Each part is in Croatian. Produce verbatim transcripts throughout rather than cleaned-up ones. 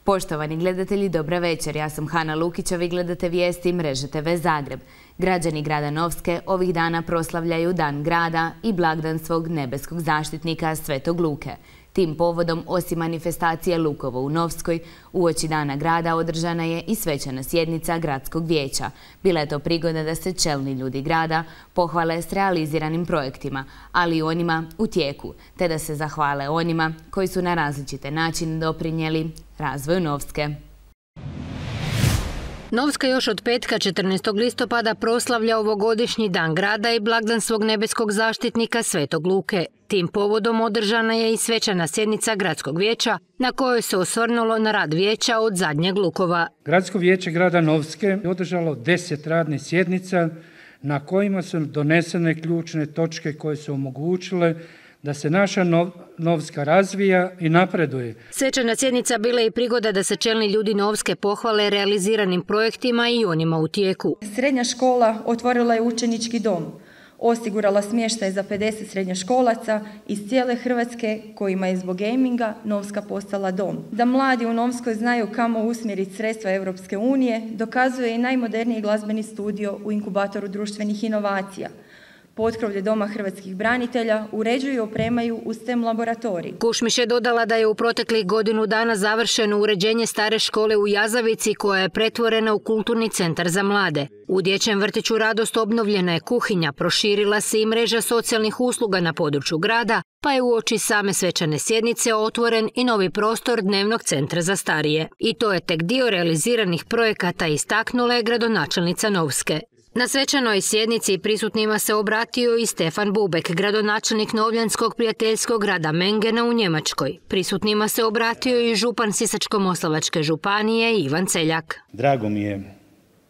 Poštovani gledatelji, dobra večer. Ja sam Hana Lukić, a vi gledate vijesti Mreže te ve Zagreb. Građani grada Novske ovih dana proslavljaju Dan grada i blagdan svog nebeskog zaštitnika Svetog Luke. Tim povodom, osim manifestacije Lukovo u Novskoj, uoči Dana grada održana je i svečana sjednica gradskog vijeća. Bila je to prigoda da se čelni ljudi grada pohvale s realiziranim projektima, ali i onima u tijeku, te da se zahvale onima koji su na različite načine doprinijeli razvoju Novske. Novska još od petka četrnaestog listopada proslavlja ovogodišnji Dan grada i blagdan svog nebeskog zaštitnika Svetog Luke. Tim povodom održana je i svečana sjednica gradskog vijeća na kojoj se osvrnulo na rad vijeća od zadnjeg Lukova. Gradsko vijeće grada Novske je održalo deset radnih sjednica na kojima su donesene ključne točke koje su omogućile da se naša nov, Novska razvija i napreduje. Svečana sjednica bila je i prigoda da se čelni ljudi Novske pohvale realiziranim projektima i onima u tijeku. Srednja škola otvorila je učenički dom, osigurala smještaj za pedeset srednjoškolaca iz cijele Hrvatske kojima je zbog gaminga Novska postala dom. Da mladi u Novskoj znaju kamo usmjeriti sredstva Europske unije dokazuje i najmoderniji glazbeni studio u inkubatoru društvenih inovacija. Potkrovlje Doma hrvatskih branitelja uređuju i opremaju u STEM laboratorij. Kušmiš je dodala da je u proteklih godinu dana završeno uređenje stare škole u Jazavici koja je pretvorena u kulturni centar za mlade. U dječjem vrtiću Radost obnovljena je kuhinja, proširila se i mreža socijalnih usluga na području grada, pa je uoči same svečane sjednice otvoren i novi prostor dnevnog centra za starije. I to je tek dio realiziranih projekata, istaknula je gradonačelnica Novske. Na svečanoj sjednici prisutnima se obratio i Stefan Bubek, gradonačelnik Novljanskog prijateljskog grada Mengena u Njemačkoj. Prisutnima se obratio i župan Sisačko-moslavačke županije Ivan Celjak. Drago mi je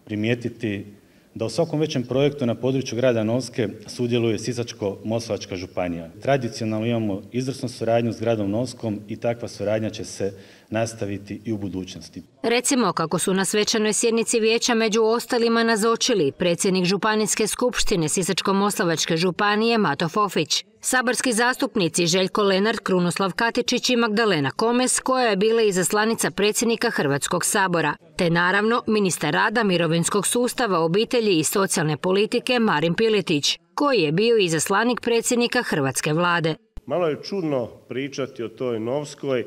primijetiti da u svakom većem projektu na području grada Novske sudjeluje Sisačko-moslavačka županija. Tradicionalno imamo izvrsnu suradnju s gradom Novskom i takva suradnja će se nastaviti i u budućnosti. Recimo kako su na svečanoj sjednici vijeća među ostalima nazočili predsjednik Županijske skupštine Sisačko-moslavačke županije Mato Fofić, saborski zastupnici Željko Lenart, Krunoslav Katičić i Magdalena Komes, koja je bila izaslanica predsjednika Hrvatskog sabora, te naravno ministar rada, mirovinskog sustava, obitelji i socijalne politike Marin Piletić, koji je bio izaslanik predsjednika Hrvatske vlade. Malo je čudno pričati o toj Novskoj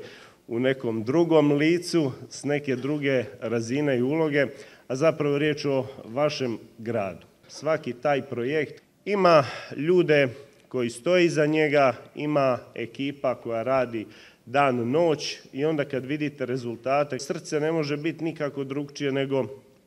u nekom drugom licu, s neke druge razine i uloge, a zapravo riječ o vašem gradu. Svaki taj projekt ima ljude koji stoje iza njega, ima ekipa koja radi dan, noć i onda kad vidite rezultate, srce ne može biti nikako drugčije nego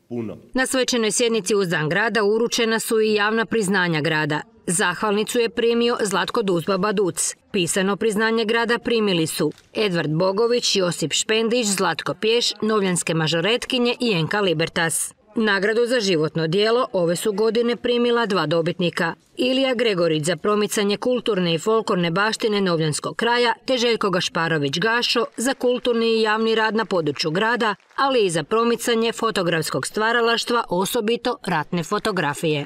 puno. Na svečanoj sjednici uz Dan grada uručena su i javna priznanja grada. Zahvalnicu je primio Zlatko Duzbaba Duc. Pisano priznanje grada primili su Edvard Bogović, Josip Špendić, Zlatko Pješ, Novljanske mažoretkinje i Enka Libertas. Nagradu za životno djelo ove su godine primila dva dobitnika. Ilija Gregorić za promicanje kulturne i folklorne baštine Novljanskog kraja te Željko Gašparović Gašo za kulturni i javni rad na području grada, ali i za promicanje fotografskog stvaralaštva, osobito ratne fotografije.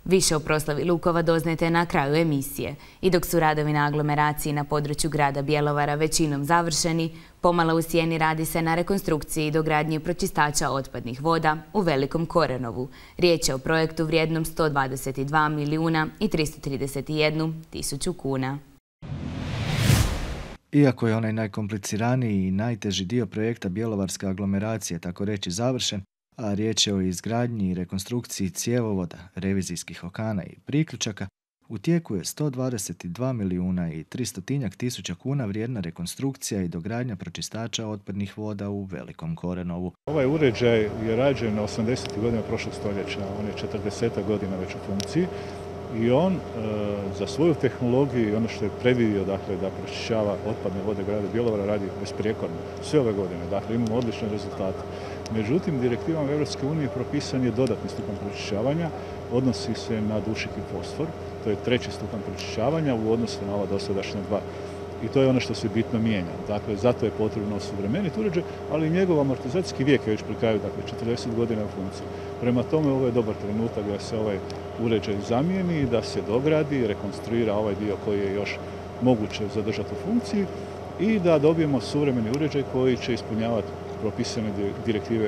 Više o proslavi Lukova doznajte na kraju emisije. I dok su radovi na aglomeraciji na području grada Bjelovara većinom završeni, pomalo u sjeni radi se na rekonstrukciji i dogradnji pročistača otpadnih voda u Velikom Korenovu. Riječ je o projektu vrijednom sto dvadeset dva milijuna i tristo trideset jednu tisuću kuna. Iako je onaj najkompliciraniji i najteži dio projekta bjelovarske aglomeracije tako reći završen, a riječ je o izgradnji i rekonstrukciji cjevovoda, revizijskih okana i priključaka, u tijeku je sto dvadeset dva milijuna i tristo tisuća kuna vrijedna rekonstrukcija i dogradnja pročistača otpadnih voda u Velikom Korenovu. Ovaj uređaj je rađen na osamdesetih godina prošlog stoljeća, on je četrdeset godina već u funkciji i on e, za svoju tehnologiju i ono što je predvidio, dakle, da pročišćava otpadne vode grada Bjelovara radi besprijekorno sve ove godine, dakle imamo odlične rezultate. Međutim, direktivom Europske unije propisan je dodatni stupanj pročišćavanja, odnosi se na dušik i fosfor, to je treći stupanj pročišćavanja u odnosu na ova dosadašnja dva. I to je ono što se bitno mijenja. Dakle, zato je potrebno osuvremeniti uređaj, ali i njegov amortizacijski vijek je već pri kraju, dakle četrdeset godina u funkciji. Prema tome, ovo je dobar trenutak da se ovaj uređaj zamijeni, da se dogradi, rekonstruira ovaj dio koji je još moguće zadržati u funkciji i da dobijemo suvremeni uređaj koji će ispunjavati propisane direktive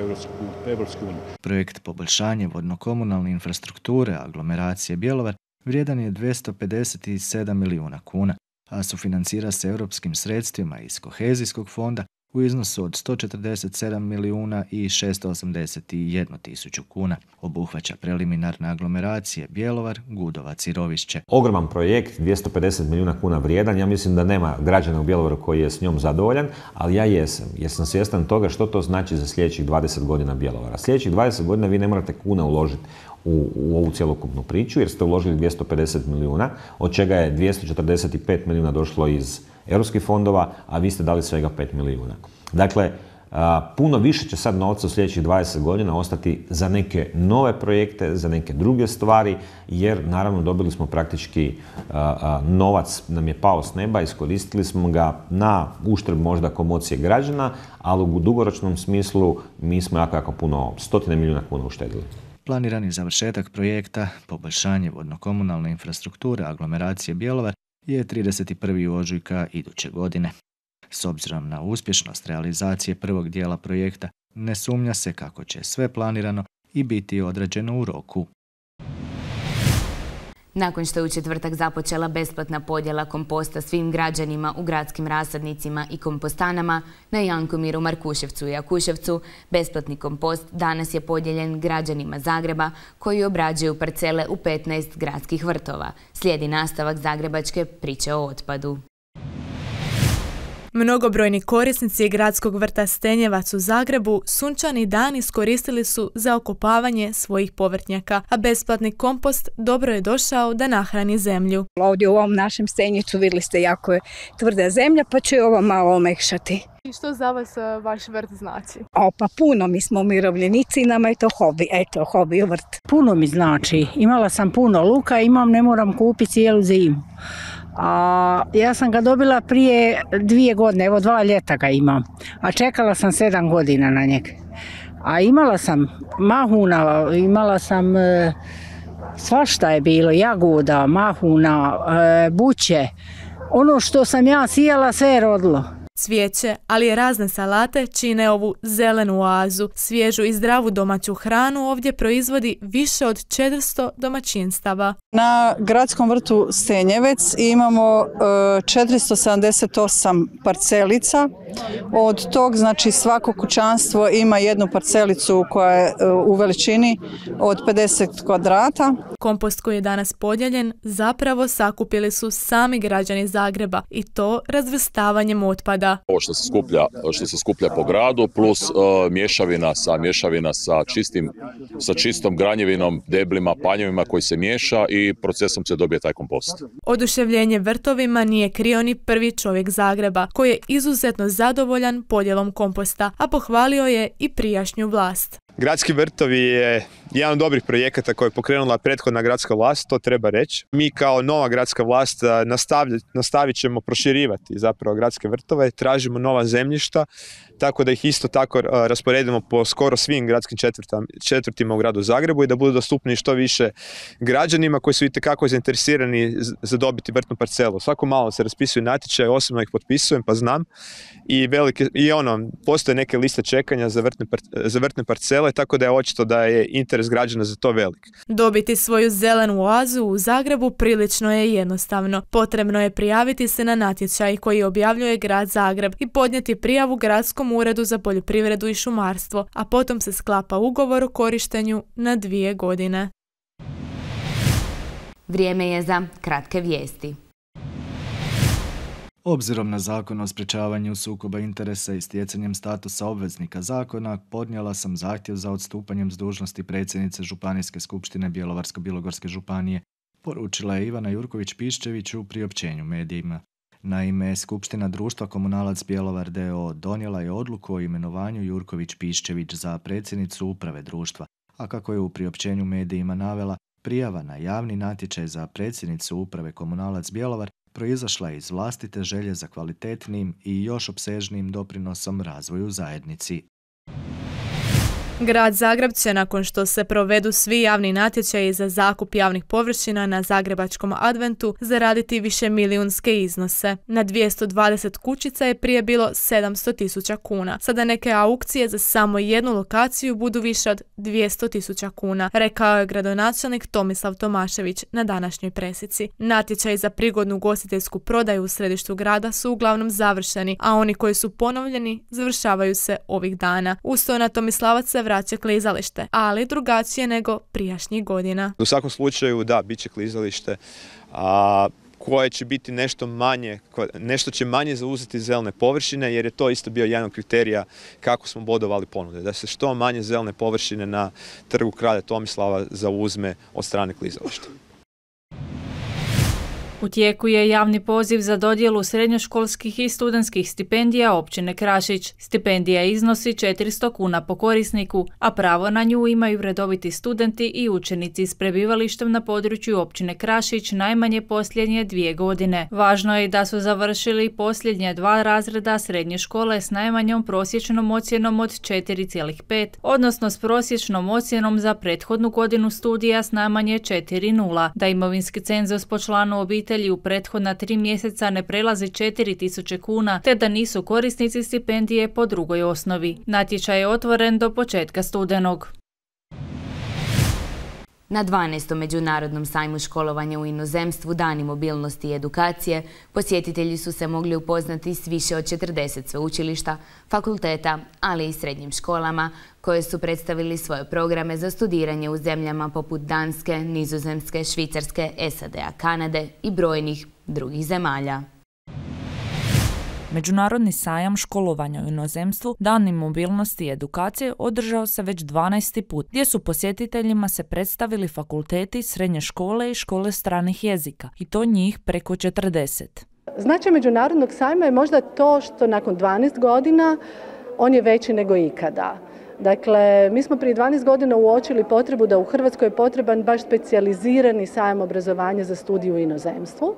Europske unije. Projekt poboljšanje vodno-komunalne infrastrukture aglomeracije Bjelovar vrijedan je dvjesto pedeset sedam milijuna kuna, a sufinancira se europskim sredstvima iz kohezijskog fonda u iznosu od sto četrdeset sedam milijuna i šesto osamdeset jednu tisuću kuna. Obuhvaća preliminarne aglomeracije Bjelovar, Gudovac i Rovišće. Ogroman projekt, dvjesto pedeset milijuna kuna vrijedan. Ja mislim da nema građana u Bjelovaru koji je s njom zadovoljan, ali ja jesam. Jer sam svjestan toga što to znači za sljedećih dvadeset godina Bjelovara. Sljedećih dvadeset godina vi ne morate kuna uložiti u, u ovu cjelokupnu priču, jer ste uložili dvjesto pedeset milijuna, od čega je dvjesto četrdeset pet milijuna došlo iz europskih fondova, a vi ste dali svega pet milijuna. Dakle, a, puno više će sad novca u sljedećih dvadeset godina ostati za neke nove projekte, za neke druge stvari, jer naravno dobili smo praktički a, a, novac nam je pao s neba, iskoristili smo ga na uštrb možda komocije građana, ali u dugoročnom smislu mi smo jako, jako puno, stotine milijuna kuna uštedili. Planirani završetak projekta poboljšanje vodno-komunalne infrastrukture aglomeracije Bjelovar je trideset prvog ožujka iduće godine. S obzirom na uspješnost realizacije prvog dijela projekta, ne sumnja se kako će sve planirano i biti odrađeno u roku. Nakon što je u četvrtak započela besplatna podjela komposta svim građanima u gradskim rasadnicima i kompostanama na Jankomiru, Markuševcu i Jakuševcu, besplatni kompost danas je podijeljen građanima Zagreba koji obrađuju parcele u petnaest gradskih vrtova. Slijedi nastavak zagrebačke priče o otpadu. Mnogobrojni korisnici gradskog vrta Stenjevac u Zagrebu sunčani dan iskoristili su za okopavanje svojih povrtnjaka, a besplatni kompost dobro je došao da nahrani zemlju. Ovdje u ovom našem Stenjicu vidjeli ste jako je tvrda zemlja, pa će ovo malo omekšati. I što za vas vaš vrt znači? O, pa puno, mi smo umirovljenici i nama je to hobi, eto, hobi vrt. Puno mi znači, imala sam puno luka, imam, ne moram kupiti cijelu zimu. A ja sam ga dobila prije dvije godine, evo dva ljeta ga imam, a čekala sam sedam godina na njega. A imala sam mahuna, imala sam e, svašta je bilo, jagoda, mahuna, e, buće. Ono što sam ja sijala sve je rodilo. Cvijeće, ali i razne salate čine ovu zelenu oazu. Svježu i zdravu domaću hranu ovdje proizvodi više od četiristo domaćinstava. Na gradskom vrtu Stenjevec imamo četiristo sedamdeset osam parcelica. Od tog, znači, svako kućanstvo ima jednu parcelicu koja je u veličini od pedeset kvadrata. Kompost koji je danas podijeljen zapravo sakupili su sami građani Zagreba i to razvrstavanjem otpada. Ovo što se skuplja, što se skuplja po gradu plus uh, mješavina sa mješavina sa čistim, sa čistom granjevinom, deblima, panjevima koji se miješa i procesom se dobije taj kompost. Oduševljenje vrtovima nije krio ni prvi čovjek Zagreba koji je izuzetno zadovoljan podjelom komposta, a pohvalio je i prijašnju vlast. Gradski vrtovi je jedan od dobrih projekata koje je pokrenula prethodna gradska vlast, to treba reći. Mi kao nova gradska vlast nastavit ćemo proširivati zapravo gradske vrtove, tražimo nova zemljišta, tako da ih isto tako rasporedimo po skoro svim gradskim četvrtima u gradu Zagrebu i da budu dostupni što više građanima koji su itekako zainteresirani za dobiti vrtnu parcelu. Svako malo se raspisuju natječaje, osobno ih potpisujem pa znam i, velike, i ono, postoje neke liste čekanja za vrtne, za vrtne parcele, tako da je očito da je interes građana za to velik. Dobiti svoju zelenu oazu u Zagrebu prilično je jednostavno. Potrebno je prijaviti se na natječaj koji objavljuje grad Zagreb i podnijeti prijavu Gradskom uredu za poljoprivredu i šumarstvo, a potom se sklapa ugovor o korištenju na dvije godine. Vrijeme je za kratke vijesti. Obzirom na zakon o sprečavanju sukoba interesa i stjecanjem statusa obveznika zakona, podnijela sam zahtjev za odstupanjem s dužnosti predsjednice Županijske skupštine Bjelovarsko-bilogorske županije, poručila je Ivana Jurković-Piščević u priopćenju medijima. Naime, Skupština društva Komunalac Bjelovar d o o donijela je odluku o imenovanju Jurković-Piščević za predsjednicu uprave društva, a kako je u priopćenju medijima navela, prijava na javni natječaj za predsjednicu uprave Komunalac Bjelovar proizašla iz vlastite želje za kvalitetnim i još opsežnijim doprinosom razvoju zajednici. Grad Zagreb će, nakon što se provedu svi javni natječaji za zakup javnih površina na Zagrebačkom adventu, zaraditi više milijunske iznose. Na dvjesto dvadeset kućica je prije bilo sedamsto tisuća kuna. Sada neke aukcije za samo jednu lokaciju budu više od dvjesto tisuća kuna, rekao je gradonačelnik Tomislav Tomašević na današnjoj presici. Natječaji za prigodnu ugostiteljsku prodaju u središtu grada su uglavnom završeni, a oni koji su ponovljeni završavaju se ovih dana. Uz to na Tomislavac se vraća klizalište, ali drugačije nego prijašnjih godina. U svakom slučaju, da, bit će klizalište, a koje će biti nešto manje, nešto će manje zauzeti zelene površine, jer je to isto bio jedan od kriterija kako smo bodovali ponude, da se što manje zelene površine na trgu kralja Tomislava zauzme od strane klizališta. U tijeku je javni poziv za dodjelu srednjoškolskih i studentskih stipendija općine Krašić. Stipendija iznosi četiristo kuna po korisniku, a pravo na nju imaju redoviti studenti i učenici s prebivalištem na području općine Krašić najmanje posljednje dvije godine. Važno je da su završili posljednje dva razreda srednje škole s najmanjom prosječnom ocjenom od četiri zarez pet, odnosno s prosječnom ocjenom za prethodnu godinu studija s najmanje četiri zarez nula, da imovinski cenzus po članu obitelji u prethodna tri mjeseca ne prelazi četiri tisuće kuna, te da nisu korisnici stipendije po drugoj osnovi. Natječaj je otvoren do početka studenog. Na dvanaestom međunarodnom sajmu školovanja u inozemstvu Dani mobilnosti i edukacije posjetitelji su se mogli upoznati s više od četrdeset sveučilišta, fakulteta, ali i srednjim školama koje su predstavili svoje programe za studiranje u zemljama poput Danske, Nizozemske, Švicarske, S A D-a, Kanade i brojnih drugih zemalja. Međunarodni sajam školovanja u inozemstvu Dani mobilnosti i edukacije održao se već dvanaesti put, gdje su posjetiteljima se predstavili fakulteti, srednje škole i škole stranih jezika, i to njih preko četrdeset. Značaj Međunarodnog sajma je možda to što nakon dvanaest godina on je veći nego ikada. Dakle, mi smo prije dvanaest godina uočili potrebu da u Hrvatskoj je potreban baš specijalizirani sajam obrazovanja za studiju u inozemstvu.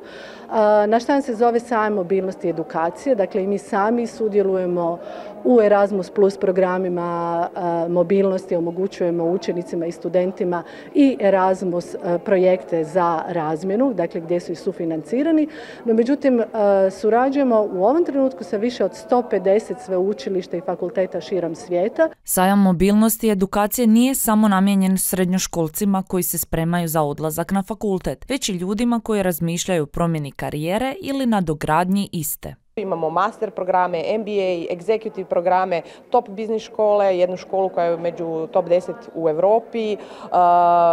Naš sajam se zove sajam mobilnosti i edukacije, dakle i mi sami sudjelujemo u Erasmus plus programima mobilnosti, omogućujemo učenicima i studentima i Erasmus projekte za razmjenu, dakle gdje su i sufinancirani, no međutim surađujemo u ovom trenutku sa više od sto pedeset sveučilišta i fakulteta širom svijeta. Sajam mobilnosti i edukacije nije samo namijenjen srednjoškolcima koji se spremaju za odlazak na fakultet, već i ljudima koji razmišljaju o promjeni karijere ili na dogradnji iste. Imamo master programe, M B A, executive programe, top biznis škole, jednu školu koja je među top deset u Europi, uh,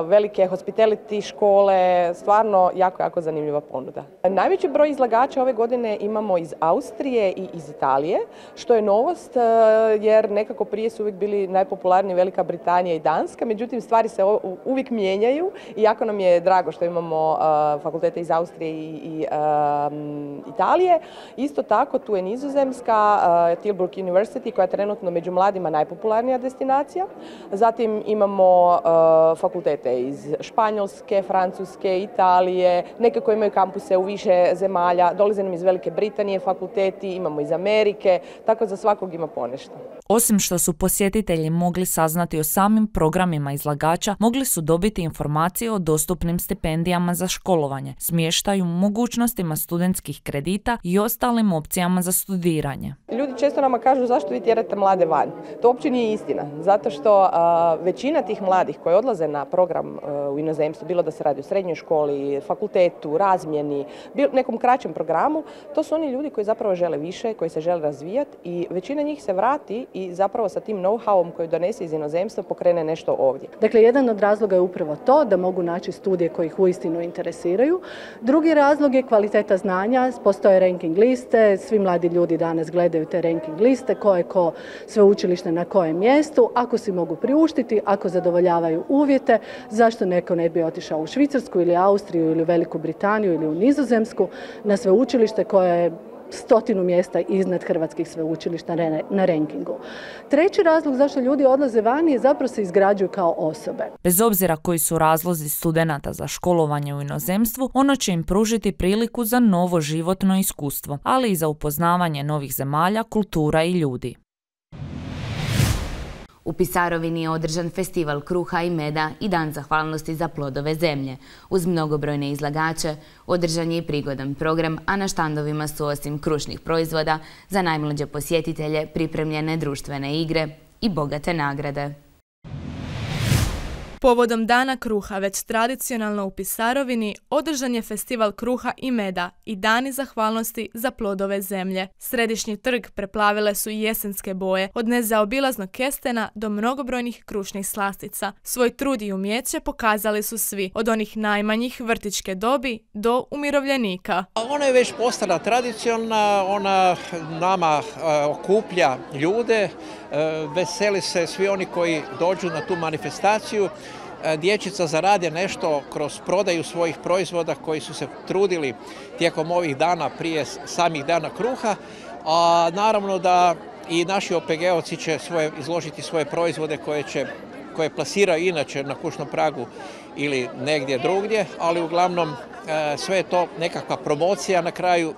velike hospitality škole, stvarno jako, jako zanimljiva ponuda. Najveći broj izlagača ove godine imamo iz Austrije i iz Italije, što je novost uh, jer nekako prije su uvijek bili najpopularniji Velika Britanija i Danska, međutim stvari se uvijek mijenjaju i jako nam je drago što imamo uh, fakultete iz Austrije i, i uh, Italije. Isto tako, tu je Nizozemska, uh, Tilburg University, koja je trenutno među mladima najpopularnija destinacija. Zatim imamo uh, fakultete iz Španjolske, Francuske, Italije, neke koje imaju kampuse u više zemalja, dolaze nam iz Velike Britanije fakulteti, imamo iz Amerike, tako za svakog ima ponešto. Osim što su posjetitelji mogli saznati o samim programima izlagača, mogli su dobiti informacije o dostupnim stipendijama za školovanje, smještaju, mogućnostima studentskih kredita i ostalim opcijama za studiranje. Ljudi često nama kažu zašto vi tjerate mlade van. To uopće nije istina, zato što uh, većina tih mladih koji odlaze na program uh, u inozemstvu, bilo da se radi o srednjoj školi, fakultetu, razmjeni, bil, nekom kraćem programu, to su oni ljudi koji zapravo žele više, koji se žele razvijati i većina njih se vrati i zapravo sa tim know-howom koji donese iz inozemstva pokrene nešto ovdje. Dakle, jedan od razloga je upravo to da mogu naći studije koji ih uistinu interesiraju. Drugi razlog je kvaliteta znanja, postoje ranking liste, svi mladi ljudi danas gledaju te ranking liste, ko je ko sveučilište na kojem mjestu, ako si mogu priuštiti, ako zadovoljavaju uvjete, zašto neko ne bi otišao u Švicarsku ili Austriju ili Veliku Britaniju ili u Nizozemsku na sveučilište koje je stotinu mjesta iznad hrvatskih sveučilišta na rankingu. Treći razlog zašto ljudi odlaze vani je zapravo se izgrađuju kao osobe. Bez obzira koji su razlozi studenata za školovanje u inozemstvu, ono će im pružiti priliku za novo životno iskustvo, ali i za upoznavanje novih zemalja, kultura i ljudi. U Pisarovini je održan festival kruha i meda i dan zahvalnosti za plodove zemlje. Uz mnogobrojne izlagače održan je i prigodan program, a na štandovima su osim krušnih proizvoda za najmlađe posjetitelje pripremljene društvene igre i bogate nagrade. Povodom Dana kruha, već tradicionalno u Pisarovini, održan je festival kruha i meda i dani zahvalnosti za plodove zemlje. Središnji trg preplavile su jesenske boje, od nezaobilaznog kestena do mnogobrojnih krušnih slastica. Svoj trud i umjeće pokazali su svi, od onih najmanjih vrtićke dobi do umirovljenika. Ona je već postala tradicionalna, ona nama e, okuplja ljude, e, veseli se svi oni koji dođu na tu manifestaciju. Dječica zarade nešto kroz prodaju svojih proizvoda koji su se trudili tijekom ovih dana prije samih dana kruha, a naravno da i naši O P G-ovci će svoje, izložiti svoje proizvode koje, će, koje plasiraju inače na kućnom pragu ili negdje drugdje, ali uglavnom sve je to nekakva promocija na kraju,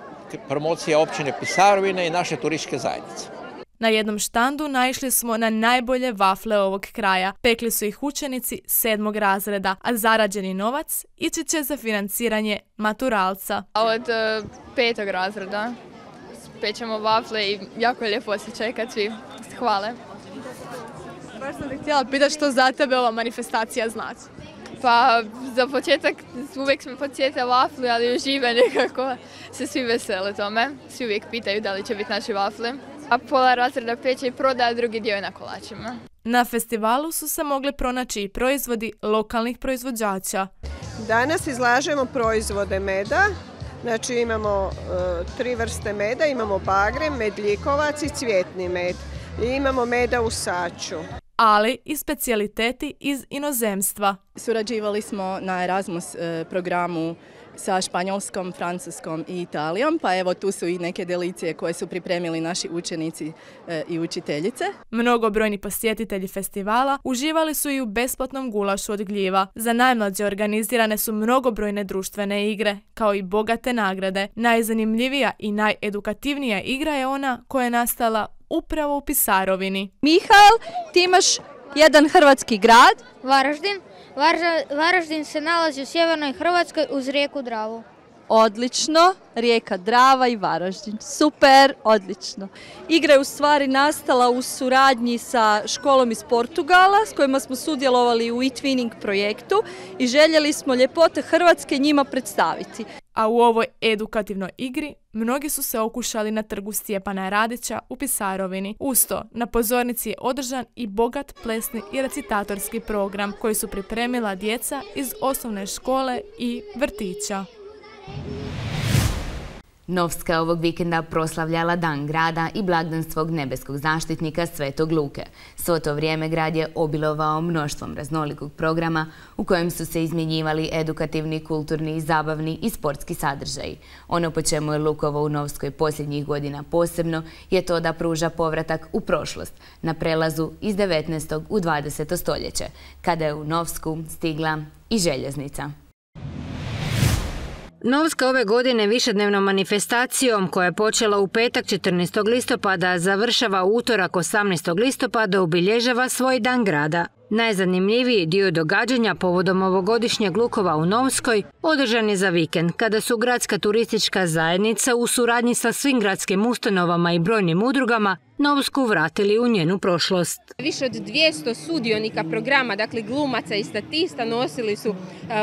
promocija općine Pisarovine i naše turističke zajednice. Na jednom štandu naišli smo na najbolje vafle ovog kraja. Pekli su ih učenici sedmog razreda, a zarađeni novac ići će za financiranje maturalca. Od uh, petog razreda pećemo vafle i jako je lijepo osjećaj kad svi hvale. Baš sam te htjela pitati što za tebe ova manifestacija znači. Pa za početak uvijek smo podsjetili vafli, ali užive nekako se svi vesele tome. Svi uvijek pitaju da li će biti naši vafli. A pola razreda peće i prodaje, drugi dio je na kolačima. Na festivalu su se mogli pronaći i proizvodi lokalnih proizvođača. Danas izlažemo proizvode meda. Znači imamo uh, tri vrste meda, imamo bagre, medljikovac i cvjetni med. I imamo meda u saču. Ali i specijaliteti iz inozemstva. Surađivali smo na Erasmus programu sa Španjolskom, Francuskom i Italijom, pa evo tu su i neke delicije koje su pripremili naši učenici i učiteljice. Mnogobrojni posjetitelji festivala uživali su i u besplatnom gulašu od gljiva. Za najmlađe organizirane su mnogobrojne društvene igre, kao i bogate nagrade. Najzanimljivija i najedukativnija igra je ona koja je nastala upravo u Pisarovini. Mihajl, ti imaš jedan hrvatski grad. Varaždin. Varaždin se nalazi u sjevernoj Hrvatskoj uz rijeku Dravu. Odlično, rijeka Drava i Varaždin. Super, odlično. Igra je u stvari nastala u suradnji sa školom iz Portugala s kojima smo sudjelovali u e-twinning projektu i željeli smo ljepote Hrvatske njima predstaviti. A u ovoj edukativnoj igri mnogi su se okušali na trgu Stjepana Radića u Pisarovini. Usto, na pozornici je održan i bogat plesni i recitatorski program koji su pripremila djeca iz osnovne škole i vrtića. Novska je ovog vikenda proslavljala Dan grada i blagdan svog nebeskog zaštitnika Svetog Luke. Svo to vrijeme grad je obilovao mnoštvom raznolikog programa u kojem su se izmjenjivali edukativni, kulturni, zabavni i sportski sadržaji. Ono po čemu je Lukovo u Novskoj posljednjih godina posebno je to da pruža povratak u prošlost na prelazu iz devetnaestog u dvadeseto stoljeće, kada je u Novsku stigla i željeznica. Novska ove godine višednevnom manifestacijom koja je počela u petak četrnaestog listopada završava utorak osamnaestog listopada obilježava svoj Dan grada. Najzanimljiviji dio događanja povodom ovogodišnjeg Lukova u Novskoj održan je za vikend, kada su gradska turistička zajednica u suradnji sa svim gradskim ustanovama i brojnim udrugama Novsku vratili u njenu prošlost. Više od dvjesto sudionika programa, dakle glumaca i statista, nosili su uh,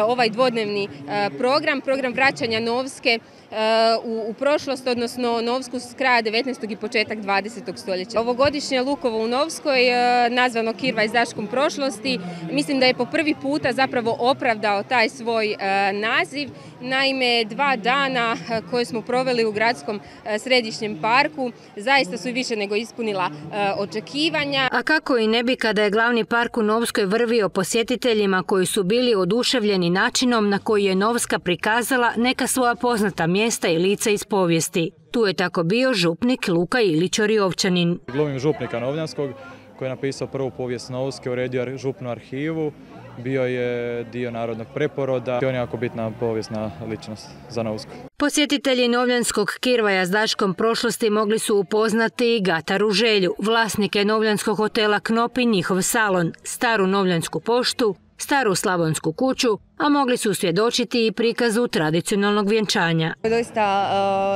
ovaj dvodnevni uh, program, program vraćanja Novske uh, u, u prošlost, odnosno Novsku s kraja devetnaestog i početak dvadesetog stoljeća. Ovogodišnje Lukovo u Novskoj, uh, nazvano Kirvaj zaškom prošlosti, mislim da je po prvi puta zapravo opravdao taj svoj uh, naziv. Naime, dva dana uh, koje smo proveli u gradskom uh, središnjem parku zaista su više nego ispunila uh, očekivanja. A kako i ne bi kada je glavni park u Novskoj vrvio posjetiteljima koji su bili oduševljeni načinom na koji je Novska prikazala neka svoja poznata mjesta i lica iz povijesti. Tu je tako bio župnik Luka Ilić Oriovčanin. Glumim župnika Novljanskog koji je napisao prvu povijest Novske, uredio župnu arhivu bio je dio narodnog preporoda i on je jako bitna povijesna ličnost za Novsku. Posjetitelji Novljanskog kirvaja s Daškom prošlosti mogli su upoznati i Gataru Želju, vlasnike Novljanskog hotela Knop i njihov salon, staru Novljansku poštu, staru Slavonsku kuću, a mogli su svjedočiti i prikazu tradicionalnog vjenčanja. Doista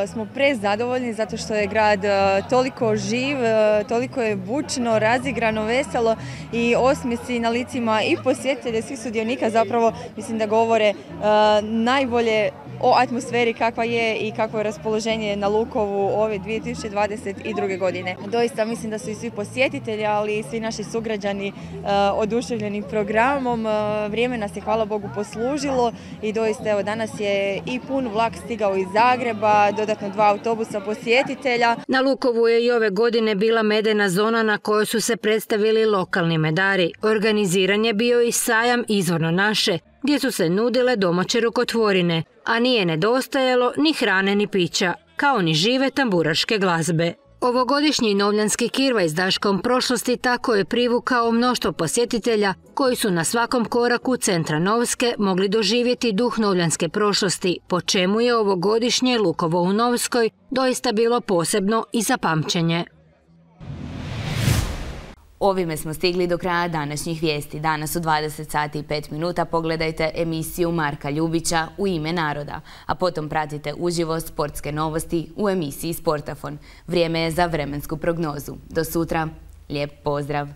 uh, smo prezadovoljni zato što je grad uh, toliko živ, uh, toliko je bučno, razigrano, veselo i osmijesi na licima i posjetitelja, svih sudionika zapravo mislim da govore uh, najbolje o atmosferi kakva je i kakvo je raspoloženje na Lukovu ove dvije tisuće dvadeset druge. godine. Doista mislim da su i svi posjetitelji, ali i svi naši sugrađani uh, oduševljeni programom. Uh, vrijeme nas je, hvala Bogu, poslužilo i doista evo danas je i pun vlak stigao iz Zagreba, dodatno dva autobusa posjetitelja. Na Lukovu je i ove godine bila medena zona na kojoj su se predstavili lokalni medari. Organiziran je bio i sajam Izvorno naše, gdje su se nudile domaće rukotvorine, a nije nedostajalo ni hrane ni pića, kao ni žive tamburaške glazbe. Ovogodišnji Novljanski kirvaj s Daškom prošlosti tako je privukao mnoštvo posjetitelja koji su na svakom koraku centra Novske mogli doživjeti duh novljanske prošlosti, po čemu je ovogodišnje Lukovo u Novskoj doista bilo posebno i za pamćenje. Ovime smo stigli do kraja današnjih vijesti. Danas u dvadeset sati i pet minuta pogledajte emisiju Marka Ljubića U ime naroda, a potom pratite uživo sportske novosti u emisiji Sportafon. Vrijeme je za vremensku prognozu. Do sutra, lijep pozdrav!